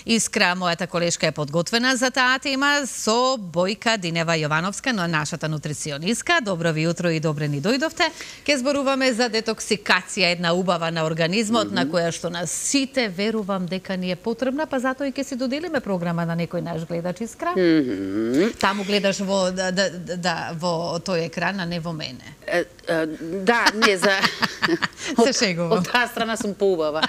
Искра, мојата колешка е подготвена за таа тема со Бојка Динева Јовановска, но нашата нутриционистка. Добро ви утро и добре ни дојдовте. Ке зборуваме за детоксикација, една убава на организмот, на која што нас сите верувам дека ни е потребна, па затоа и ке си доделиме програма на некој наш гледач, Искра. Таму гледаш во во тој екран, а не во мене. Да, не за се шегувам. Од таа страна сум поубава.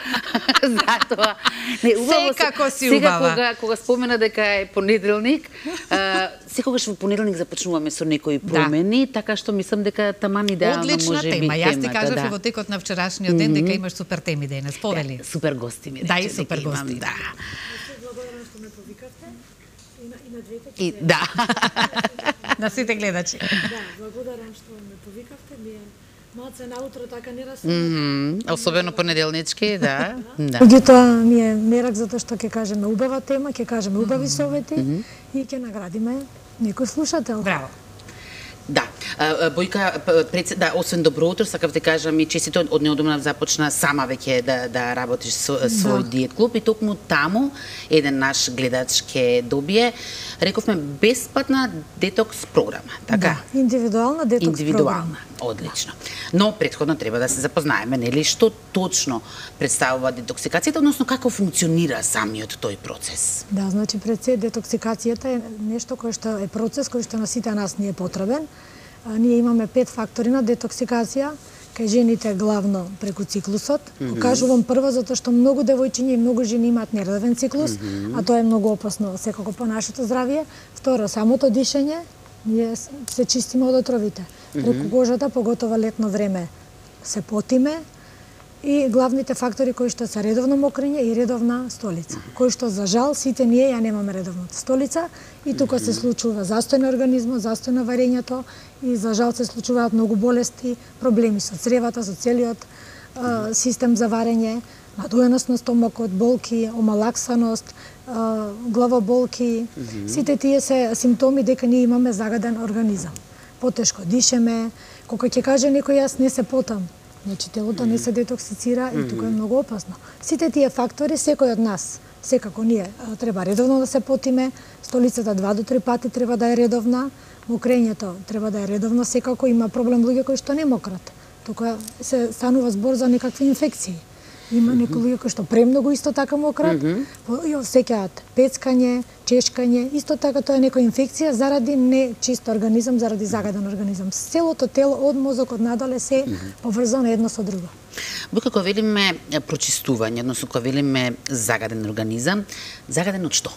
Затоа не убаво секако си убава. Сега кога спомена дека е понеделник, секогаш во понеделник започнуваме со некои промени, така што мислам дека таман идеално може би темата. Одлична тема. Јас ти кажав во текот на вчерашниот ден дека имаш супер теми денес. Повели. Супер гости ми рече. Да, и супер гости. Да. Благодарам што ме повикавте. И на двете. И да. На сите гледачи. Да, благодарам што ме повикавте. Ние малце наутро така не расте. Особено понеделнички, да. Да. Меѓутоа ми е мерак затоа што ќе кажеме убава тема, ќе кажеме убави совети и ќе наградиме некој слушател. Браво. Да, Бојка, да, освен добро утро, сакав да кажам и честито од неодамна започна сама веќе да работиш со свој диет клуб и токму таму еден наш гледач ќе добие, рековме, бесплатна детокс програма, така? Да, индивидуална детокс програма. Одлично. Но претходно треба да се запознаеме, нели, што точно представува детоксикацијата, односно како функционира самиот тој процес. Да, значи пред се детоксикацијата е нешто кое што е процес кој што на сите нас ни е потребен. Ние имаме 5 фактори на детоксикација, кај жените главно преку циклусот. Кажувам прво затоа што многу девојчиња и многу жени имаат нередовен циклус, а тоа е многу опасно секако по нашето здравје. Второ, самото дишење, ние се чистиме од отровите. Преку кожата, поготово летно време, се потиме. И главните фактори кои што се редовно мокрење и редовна столица, кои што за жал сите ние ја немаме редовната столица и тука се случува застој на организмот, застој на варењето и за жал се случуваат многу болести, проблеми со цревата, со целиот систем за варење, надуеност на стомакот, болки, омалаксаност, главоболки. Сите тие се симптоми дека ние имаме загаден организам. Потешко дишеме, кога ќе каже некој јас не се потам, значи телото не се детоксицира и тука е многу опасно. Сите тие фактори, секој од нас, секако ние треба редовно да се потиме, столицата 2 до 3 пати треба да е редовна, мокрењето треба да е редовно, секако има проблем луѓе кои што не мократ. Тука се станува збор за некакви инфекции. Има некои луѓе кои што премногу исто така мократ, и осеќаат пецкање, чешкање, исто така тоа е некоја инфекција заради нечист организам, заради загаден организам. Целото тело од мозокот надоле се поврзано едно со друго. Бојка, кога велиме прочистување, односно кога велиме загаден организам, загаден од што?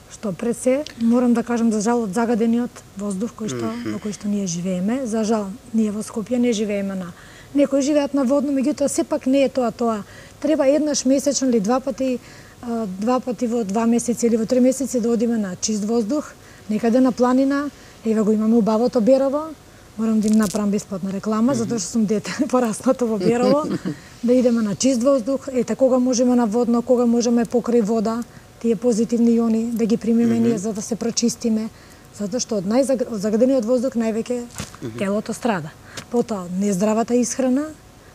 Што пред се, морам да кажам за жал од загадениот воздух во кој што ние живееме. За жал, ние во Скопје не живееме на некои живеат на водно, меѓутоа сепак не е тоа. Треба еднаш месечно или два пати во 2 месеци или во 3 месеци да одиме на чист воздух, некаде на планина, еве го имаме убавото Берово. Морам да им направам бесплатна реклама, затоа што сум дете пораснато во Берово, да идеме на чист воздух, ете кога можеме на водно, кога можеме покрај вода, тие позитивни иони да ги примеме ние за да се прочистиме, затоа што од загадениот воздух највеќе телото страда. Потоа, нездравата исхрана,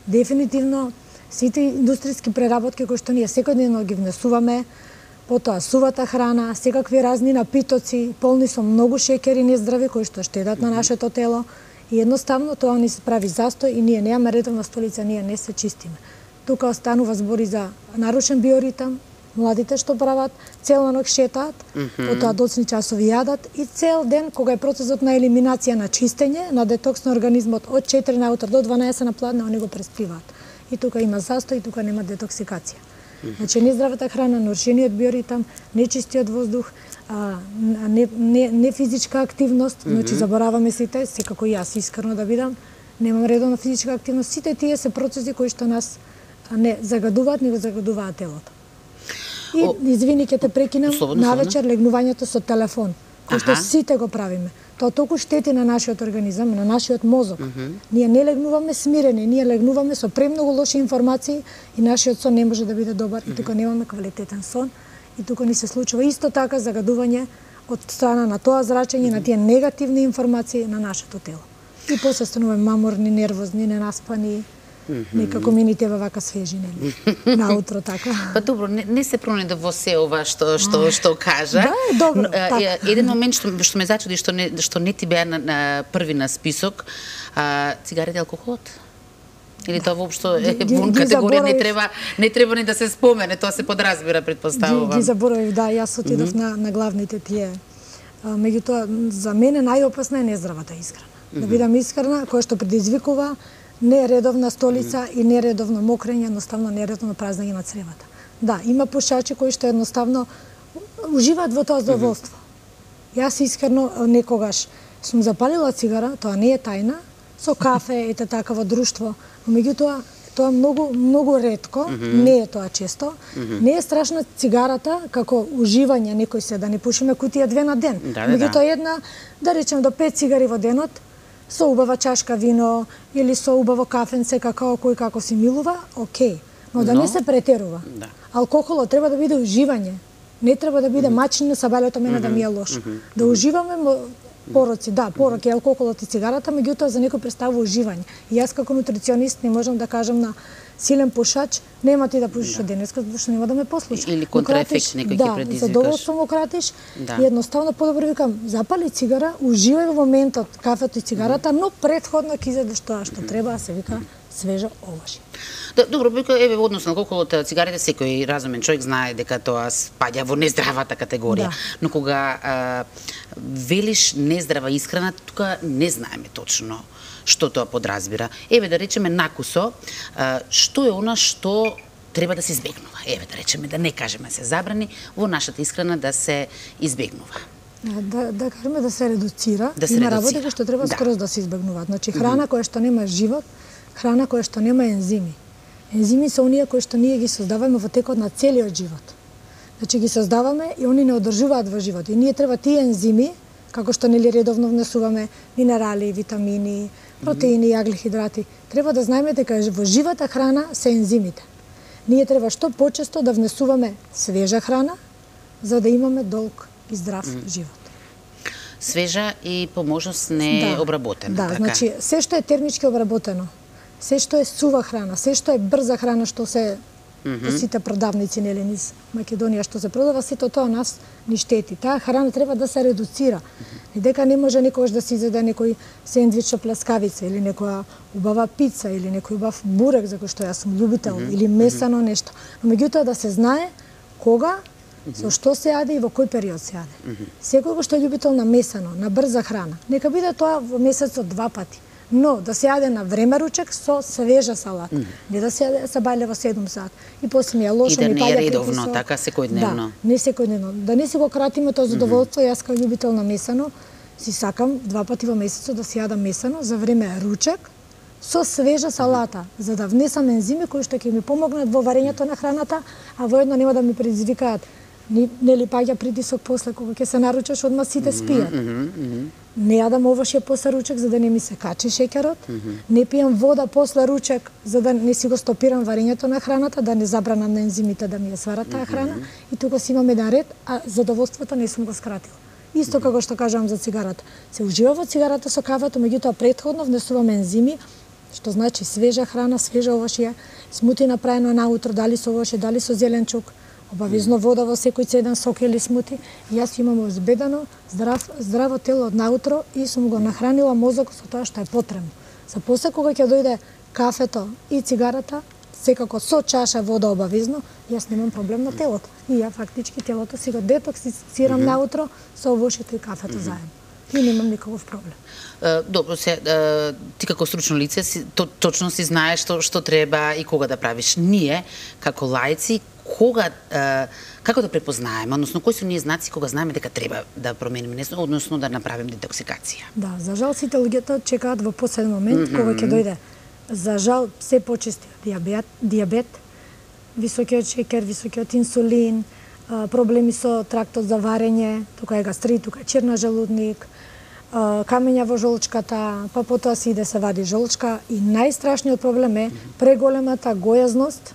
дефинитивно сите индустријски преработки кои што ние секојдневно ги внесуваме, потоа сувата храна, секакви разни напитоци, полни со многу шеќери нездрави кои што штедат на нашето тело и едноставно тоа ни се прави застој и ние немаме редовна столица, ние не се чистиме. Тука останува збори за нарушен биоритам, младите што прават, цела ног шетаат, потоа доцни часови јадат и цел ден, кога е процесот на елиминација на чистење, на детокс на организмот од 4 наутро до 12 на пладне, они го преспиваат. И тука има застој, и тука нема детоксикација. Значи, нездравата храна, нарушениот биоритам, нечистиот воздух, не физичка активност, значи забораваме сите, секако и јас искрено да бидам, немам редовна физичка активност, сите тие се процеси кои што нас не загадуваат, не го загадуваат телото. И извини, ќе те прекинам, навечер легнувањето со телефон, кој што сите го правиме. Тоа толку штети на нашиот организам, на нашиот мозок. Ние не легнуваме смирени, ние легнуваме со премногу лоши информации и нашиот сон не може да биде добар и тука немаме квалитетен сон и тука ни се случува исто така загадување од страна на тоа зрачење, на тие негативни информации на нашето тело. И после стануваме маморни, нервозни, ненаспани, Некако ми ни теба вака свежи, нели? Наутро така. Па добро, не се пронеде во се ова што кажа. Да, добро. Еден момент што ме зачуди што не ти беа на први на список, цигарите и алкохолот. Или тоа воопшто е вон категорија, не треба ни да се спомене, тоа се подразбира, предпоставувам. Ги заборавив, да, јас отидов на главните тие. Меѓутоа, за мене најопасна е нездравата исхрана. Да бидам исхрана, која што предизвикува нередовна столица и нередовно мокрење, едноставно нередовно празнење на цревата. Да, има пушачи кои што едноставно уживаат во тоа задоволство. Јас искрено некогаш сум запалила цигара, тоа не е тајна, со кафе, ете така во друштво, но меѓутоа тоа многу ретко, не е тоа често. Не е страшна цигарата како уживање, некој се да не пушиме кутија 2 на ден. Меѓутоа една, да речем до 5 цигари во денот, со убава чашка вино или со убаво кафенце, какао кој како си милува, окей. Но да не се претерува. Алкохолот треба да биде уживање. Не треба да биде мачење со балето мене да ми е лошо. Да уживаме пороци, да, порок е алкохолот и цигарата, меѓутоа за некој представува уживање. И јас како нутриционист не можам да кажам на силен пушач, нема ти да пушиш од денеска, затоа што нема да ме послуша. Или контраефект некој ќе предизвикаш. Да, задоволство му кратиш и едноставно подобро викам, запали цигара, уживај во моментот кафето и цигарата, но претходно ќе изедеш тоа што треба, се вика свежо овошје. Добро, еве односно алкохолот, цигарите, секој разумен човек знае дека тоа спаѓа во нездравата категорија. Но кога велиш нездрава исхрана, тука не знаеме точно што тоа подразбира. Еве да речеме накусо, што е она што треба да се избегнува? Еве да речеме, да не кажеме се забрани, во нашата исхрана да се избегнува. Да кажеме да се редуцира. Има работи кои што треба скроз да се избегнуваат. Значи храна која што нема живот, храна која што нема ензими. Ензими се оние кои што ние ги создаваме во текот на целиот живот. Значи ги создаваме и они не одржуваат во живот. И ние треба тие ензими, како што нели редовно внесуваме минерали, витамини, протеини, јаглихидрати, треба да знаеме дека во живата храна се ензимите. Ние треба што почесто да внесуваме свежа храна, за да имаме долг и здрав живот. Свежа и по можност не обработена. Да, значи се што е термички обработено, се што е сува храна, се што е брза храна што се по сите продавници нели низ Македонија што се продава, сето тоа нас ни штети. Таа храна треба да се редуцира. И дека не може никогаш да се изеде некој сендвич со плескавица или некоја убава пица или некој убав бурек, за кој што јас сум љубител, или месано нешто. Но меѓутоа да се знае кога, со што се јаде и во кој период се јаде. Секој кој што е љубител на месано, на брза храна, нека биде тоа во месецот 2 пати. Но да се јаде на време ручек со свежа салата. Не да се јаде са бајле во 7 сат. И после ми е лошо, ми паѓа притисок. И да не е редовно, така секојдневно. Да, не секојдневно. Да не си го кратиме тоа задоволство, јас како љубител на месано, си сакам 2 пати во месецот да се јадам месано за време ручек со свежа салата, за да внесам ензими кои што ќе ми помогнат во варењето на храната, а воедно нема да ми предизвикаат нели паѓа притисок после кога ќе се наручаш, одма сите спијат. Не јадам овошје после ручек за да не ми се качи шеќерот, не пијам вода после ручек за да не си го стопирам варењето на храната, да не забранам на ензимите да ми ја сварат таа храна, и тука си имам еден ред, а задоволството не сум го скратила. Исто како што кажам за цигарата. Се ужива во цигарата со кафето, меѓутоа претходно внесуваме ензими, што значи свежа храна, свежа овошје, смути направено наутро, дали со овошје, дали со зеленчук, обавезно вода во секој цеден сок или смути. Јас имам обезбедено здраво тело од наутро и сум го нахранила мозокот со тоа што е потребно. За после кога ќе дојде кафето и цигарата, секако со чаша вода обавезно, јас немам проблем на телото. И ја фактички телото си го детоксицирам наутро со овошјето и кафето заедно. И немам никаков проблем. Добро, ти како стручно лице точно си знаеш што треба и кога да правиш. Ние, како лаици, како да препознаеме, односно кои се ние знаци кога знаеме дека треба да промениме нещо, односно да направим детоксикација? Да, за жал сите луѓето чекаат во последен момент кога ќе дојде. За жал се почести дијабет, високиот шеќер, високиот инсулин, проблеми со трактот за варење, тука е гастрит, тука е черна желудник, камења во жолчката, па потоа се иде се вади жолчка и најстрашниот проблем е преголемата гојазност,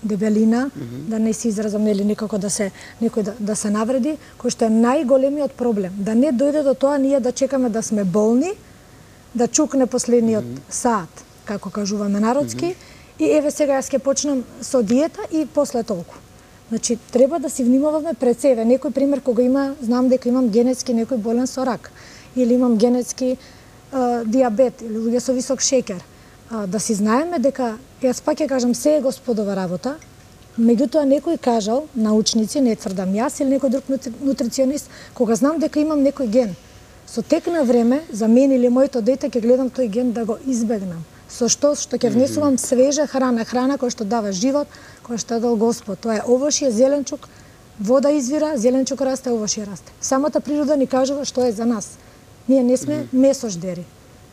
дебелина, да не се изразам нели никако да се некој да се навреди, кој што е најголемиот проблем. Да не дојде до тоа ние да чекаме да сме болни, да чукне последниот саат како кажуваме народски, и еве сега јас ќе почнам со диета и после толку. Значи, треба да си внимаваме пред себе. Некој пример, кога знам дека имам генетски некој болен со рак, или имам генетски диабет, или луѓе со висок шеќер, да си знаеме дека, јас пак ќе кажам, се е Господова работа, меѓутоа некој кажал, научници, не тврдам јас или некој друг нутриционист, кога знам дека имам некој ген, со тек на време, за мен или моето дете, ќе гледам тој ген да го избегнам. Со што ќе внесувам свежа храна која што дава живот, која што дал Господ. Тоа е овошје, зеленчук, вода извира, зеленчук расте, овошје расте. Самата природа ни кажува што е за нас. Ние не сме месождери.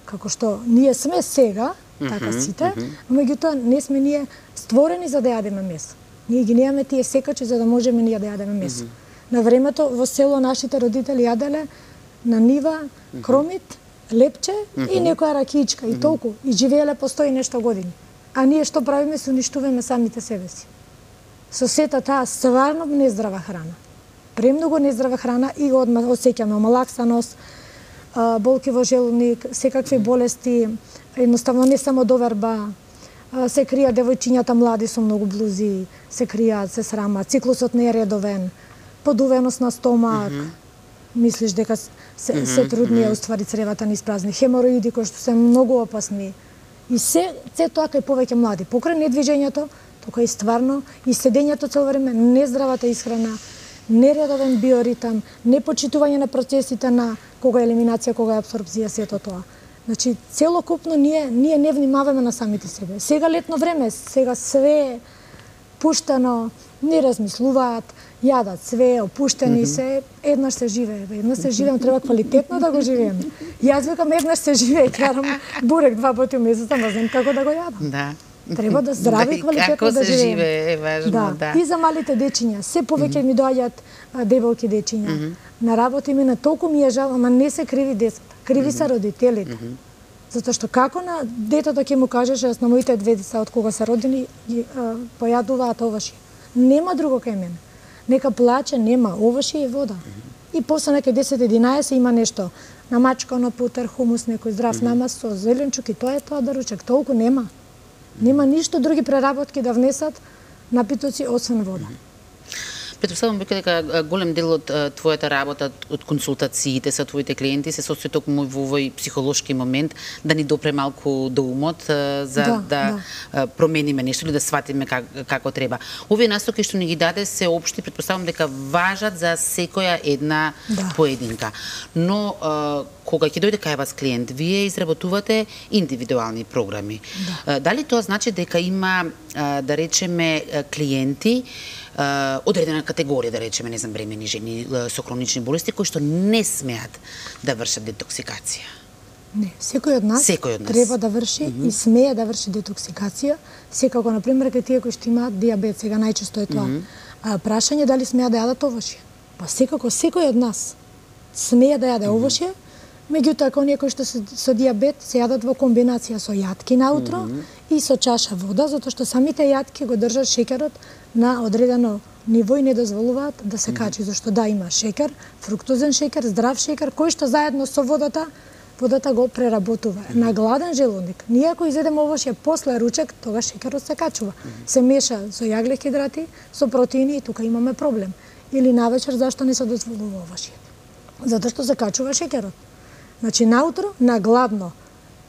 Како што ние сме сега, така сите, но меѓутоа не сме ние створени за да јадеме месо. Ние ги немаме тие секачи за да можеме ние да јадеме месо. На времето во село нашите родители јаделе на нива кромит, лепче и некоја ракиичка и толку. И живееле по 100 и нешто години. А ние што правиме, се уништуваме самите себе си. Со сета таа стварно нездрава храна. Премногу нездрава храна и одма осеќаме омалаксаност, болки во желудник, секакви болести, едноставно не само доверба, се кријат девојчињата млади со многу блузи, се кријат, се срамат, циклусот не е редовен, подувеност на стомак, мислиш дека се трудни, уствари цревата ни испразни, хемороиди кои што се многу опасни. И се тоа кај повеќе млади. Покрај недвижењето, тука и стварно, и седењето цело време, нездравата исхрана, нередовен биоритам, непочитување на процесите на кога е елиминација, кога е апсорбција, сето тоа. Значи, целокупно ние не внимаваме на самите себе. Сега летно време, сега све пуштено, не размислуваат, јадат све, опуштени се, еднаш се живее. Еднаш се живеем, треба квалитетно да го живееме. Јас викам еднаш се живее, карам бурек 2 пати у месецот, не знам како да го јадам. Да. Треба да здрави и квалитетно да живееме. Како се живее е важно, да. И за малите дечиња, се повеќе ми доаѓаат дебелки дечиња. На работа ми на толку ми е жал, ама не се криви децата, криви се родителите. Затоа што како на детето ќе му кажеш, јас на моите 2 деца од кога се родени појадуваат овошје. Нема друго кај мене. Нека плаче, нема овошје и вода. И после нека 10-11 има нешто намачкано путер, хумус, некој здрав намаз со зеленчук и тоа е тоа доручек. Толку нема. Нема ништо други преработки да внесат напитоци освен вода. Претпоставувам дека голем дел од твојата работа, од консултациите со твоите клиенти се состои токму во овој психолошки момент да ни допре малку до умот за да промениме нешто или да сватиме како треба. Овие настоки што ни ги даде се општи, претпоставувам дека важат за секоја една поединка. Но кога ќе дојде кај вас клиент, вие изработувате индивидуални програми. Дали тоа значи дека има, да речеме, клиенти одредена категорија, да речеме, не знам, бремени жени со хронични болести, кои што не смеат да вршат детоксикација? Не, секој од нас треба да врши и смее да врши детоксикација, секако, например, кај тие кои што имаат диабет, сега најчесто е тоа. Прашање дали смеат да јадат овошје? Па секако, секој од нас смее да јаде овошје, меѓутоа, ако некои што со диабет се јадат во комбинација со јатки наутро и со чаша вода, затоа што самите јатки го држат шеќерот на одредено ниво и не дозволуваат да се качи, зашто да има шеќер, фруктозен шеќер, здрав шеќер, кој што заедно со водата го преработува. На гладен желудник, ние ако изедеме овошје после ручек, тогаш шеќерот се качува. Се меша со јаглехидрати, со протеини и тука имаме проблем. Или навечер зашто не се дозволува овошје? Затоа што се качува шеќерот. Значи, наутро, на гладно,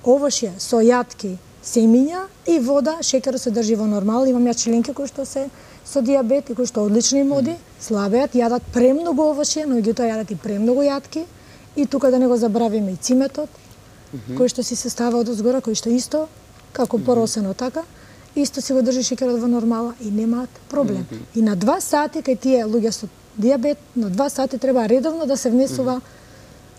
овошје со јатки, семиња и вода, шеќерот се држи во нормал. Имам ја членки кои што се со диабет и кои што одлични моди, слабеат, јадат премногу овошје, но меѓутоа јадат и премногу јатки. И тука да не го забравиме и циметот, кој што си се става од озгора, кој што исто, како поросено така, исто си го држи шеќерот во нормала и немаат проблем. И на 2 сати, кај тие луѓе со диабет, на 2 сати треба редовно да се внесува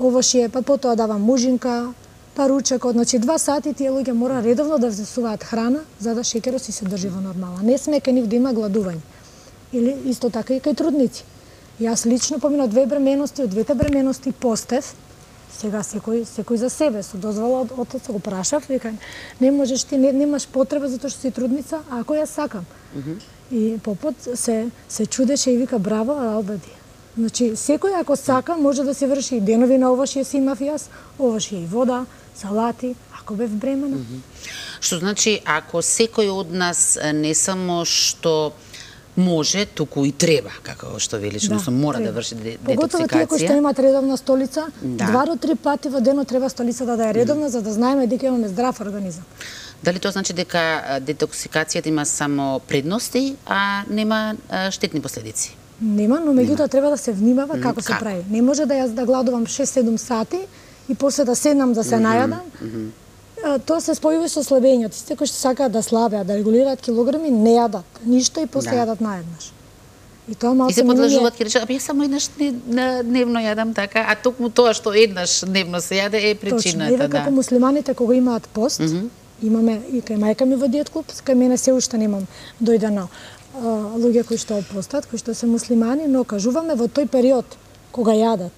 овошје, па потоа дава мужинка, па ручекот, значи 2 сати тие луѓе мора редовно да внесуваат храна за да шеќерот си се држи во нормала. Не сме кај нив да има гладување. Или исто така и кај трудници. Јас лично поминав 2 бременности, од 2 бременности постев, сега секој за себе, со дозвола од отец го прашав, вика, не можеш ти, немаш потреба затоа што си трудница, а ако ја сакам. И попот се чудеше и вика, браво, а обеди. Значи, секој ако сака, може да се врши и денови на овошје си имав јас, овошје и вода, салати, Ако бев бремена. Што значи, ако секој од нас не само што може, туку и треба, како што велиш, односно мора да врши детоксикација. Поготово тие кои што имаат редовна столица, 2 до 3 пати во денот треба столицата да е редовна, за да знаеме дека имаме здрав организам. Дали тоа значи дека детоксикацијата има само предности, а нема штетни последици? Нема, но меѓутоа треба да се внимава како се прави. Не може да јас да гладувам 6-7 сати и после да седнам да се најадам. Тоа се спојува со слабењето. Сите кои што сакаат да слабеат, да регулираат килограми, не јадат ништо и после јадат наеднаш. И тоа малку и се подлажуваат, ќе речат, јас само еднаш дневно јадам така, а токму тоа што еднаш дневно се јаде е причината. Точно, како муслиманите кога имаат пост, имаме и кај мајка ми во диет клуб, кај мене се уште немам дојдено луѓе кои што постат, кои што се муслимани, но кажуваме во тој период кога јадат,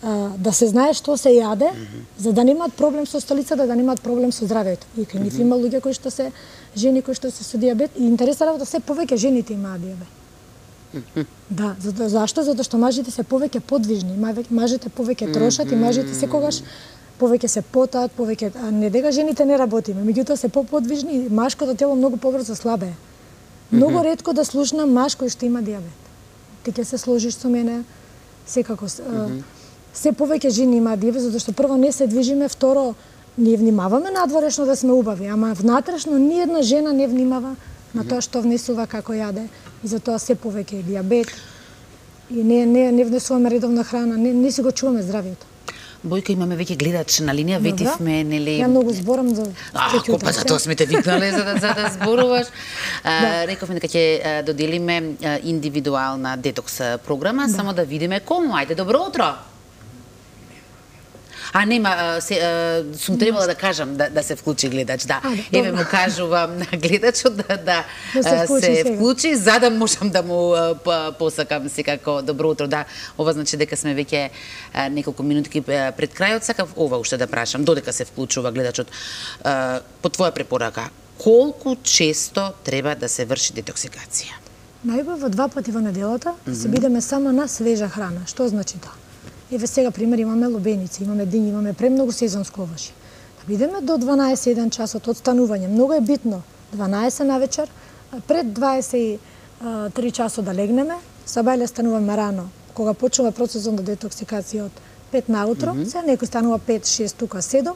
да се знае што се јаде, за да немаат проблем со столицата, да немаат проблем со здравјето. И кај нив има луѓе кои што се жени кои што се со дијабет, и интересира да се повеќе жените имаат дијабет. Да, зашто? Затоа што мажите се повеќе подвижни, мажите повеќе трошат и мажите секогаш повеќе се потаат, повеќе, не дека жените не работиме, меѓутоа се поподвижни и машкото тело многу побрзо слабее. Многу ретко да слушнам маж кој што има дијабет. Ти ќе се сложиш со мене, секако. Се повеќе жени имаат дијабет, затоа што прво не се движиме, второ ние внимаваме надворешно да сме убави, ама внатрешно ни една жена не внимава на тоа што внесува, како јаде, и затоа се повеќе е дијабет. И не внесуваме редовна храна, не си го чуваме здравието. Бојка, имаме веќе гледач на линија, ветивме, нели... Ја многу зборам за... Па за тоа сме те викнале, за да зборуваш. Рековме дека ќе доделиме индивидуална детокс програма, само да видиме кому. Ајде, добро утро! А нема, сум требала да кажам да се вклучи гледач, да. Еве му кажувам на гледачот да се вклучи, за да можам да му посакам секако добро утро. Да, ова значи дека сме веќе неколку минутки пред крајот. Сакав ова уште да прашам, додека се вклучува гледачот. По твоја препорака, колку често треба да се врши детоксикација? Најубаво 2 пати во неделата се бидеме само на свежа храна. Што значи тоа? Еве сега пример имаме лубеници, имаме дињи, имаме премногу сезонско овошје. Да бидеме до 12-1 часот од станување. Многу е битно 12 на вечер, пред 23 часот да легнеме, сабајле стануваме рано. Кога почнува процесот на детоксикација од 5 наутро, се некој станува 5-6, тука 7,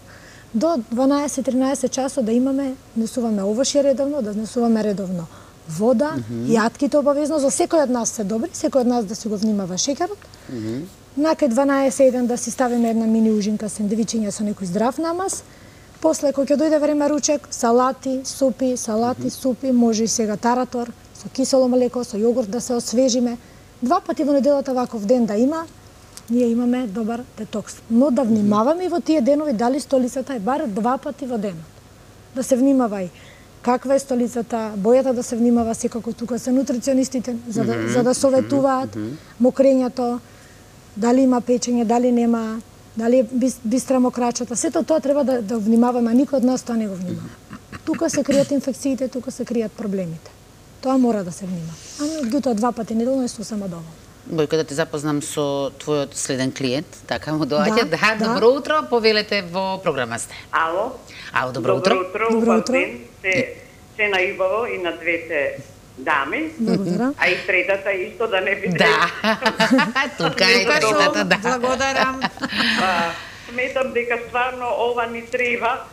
до 12-13 часот да имаме, внесуваме овошје редовно, да внесуваме редовно вода, јатките обавезно, за секој од нас се добри, секој од нас да си го внимава шеќерот. Накај 12-1 да си ставиме една мини ужинка сендвичиња со некој здрав намаз. После, кој ќе дојде време ручек, салати, супи, може и сега таратор, со кисело млеко, со јогурт да се освежиме. 2 пати во неделата ваков ден да има, ние имаме добар детокс. Но да внимаваме и во тие денови дали столицата е бар 2 пати во денот. Да се внимава и каква е столицата, бојата да се внимава, секако тука се нутриционистите за да советуваат, мокрењето, дали има печење, дали нема, дали е бистра мокрачата. Сето тоа треба да внимаваме, а никој од нас тоа не го внимава. Тука се кријат инфекциите, тука се кријат проблемите. Тоа мора да се внимава. А меѓутоа 2 пати неделно е сосема доволно. Бојка, да те запознам со твојот следен клиент, така му доаѓа. Да, добро утро, повелете во програма сте. Ало. Ало, добро утро. Добро утро. Се најубаво и на двете дами. Благодарам. А и третата исто да не биде. Да. Тука е третата, да. Благодарам. Сметам дека стварно ова ни треба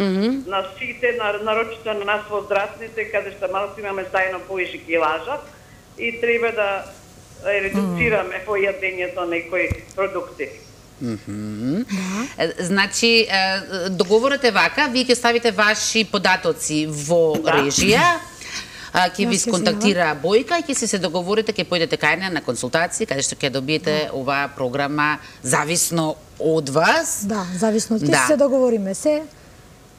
на сите, нарочито на нас возрастните, каде што малку имаме заедно повише килажа и треба да редуцираме во јадењето некои продукти. Значи, договорот е вака, вие ќе ставите ваши податоци во режија, ќе ви сконтактира Бојка и ќе се договорите, ќе појдете кај неа на консултации, каде што ќе добиете оваа програма зависно од вас. Да, зависно од ќе се договориме се,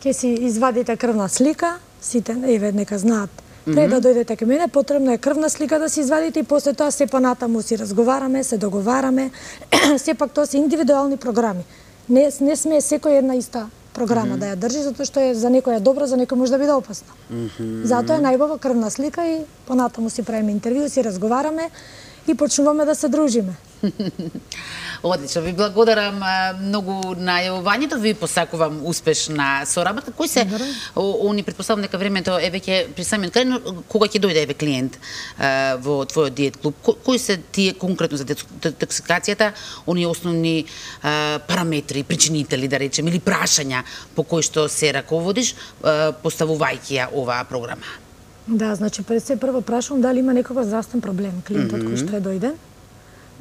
ќе си извадите крвна слика, сите еве нека знаат. Пред да дојдете кај мене, потребно е крвна слика да си извадите и после тоа се понатаму си разговараме, се договараме. Сепак тоа се индивидуални програми. Не сме секој една иста програма да ја држи, затоа што е за некој е добро, за некој може да биде опасно. Затоа е најубаво крвна слика и понатаму си правиме интервју, си разговараме и почнуваме да се дружиме. Одлично, ви благодарам многу на јавувањето, ви посакувам успешна соработка. Кои се они претпоставам дека времето е веќе при самиот крај, но кога ќе дојде еве клиент во твојот диет клуб, кои се тие конкретно за детоксикацијата, оние основни параметри, причинители да речем или прашања по кои што се раководиш поставувајќи ја оваа програма? Да, значи пред се прво прашувам дали има некој здравствен проблем клиентот кој што е дојден.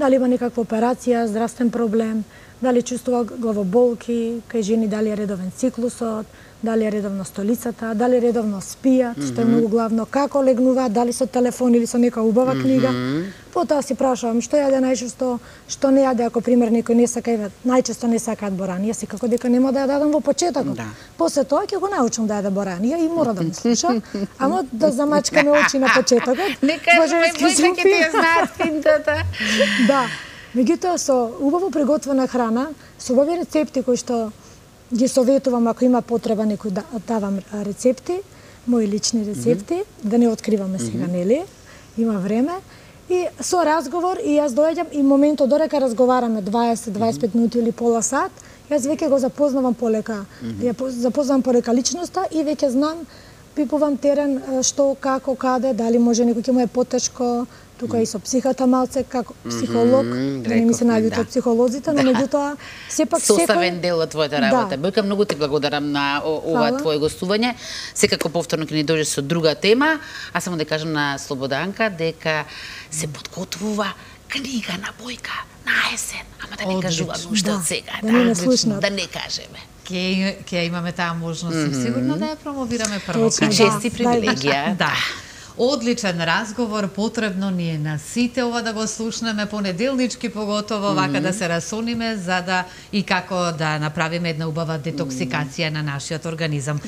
Дали има некаква операција, здравствен проблем, дали чувствува главоболки, кај жени дали е редовен циклусот, дали е редовно столицата, дали редовно спијат, што е многу главно, како легнуваат, дали со телефон или со нека убава книга. Потоа си прашувам што јаде најчесто, што не јаде, ако пример некој не сака, најчесто не сакаат борани, јас секако дека нема да ја дадам во почетокот. Да. После тоа ќе го научам да јаде боранија и мора да ме слуша, ама да замачкаме очи на почетокот. Нека Бојка ќе ти ја знаат финтата. Да. Меѓутоа со убаво приготвена храна, со убави рецепти кои што ги советувам ако има потреба некој да давам рецепти, мои лични рецепти, да не откриваме сега, нели? Има време. И со разговор и јас доаѓам и моментот додека разговараме 20-25 минути или пола сат, јас веќе го запознавам полека, ја запознавам полека личноста и веќе знам, пипувам терен што, како, каде, дали може некој ќе му е потешко, тука и со психата малце како психолог, да не ми се најутат психолозите, но меѓутоа сепак составен дел од твојата работа. Бојка, многу ти благодарам на ова твое гостување. Секако повторно ќе ни дојдеш со друга тема, а само да кажам на Слободанка дека се подготвува книга на Бојка на есен, ама да не кажуваме уште од сега, да не кажеме. Ќе имаме таа можност сигурно да ја промовираме прво. Чест и привилегија. Да. Одличен разговор, потребно ни е на сите ова да го слушнеме понеделнички поготово, вака да се расониме за да и како да направиме една убава детоксикација на нашиот организам.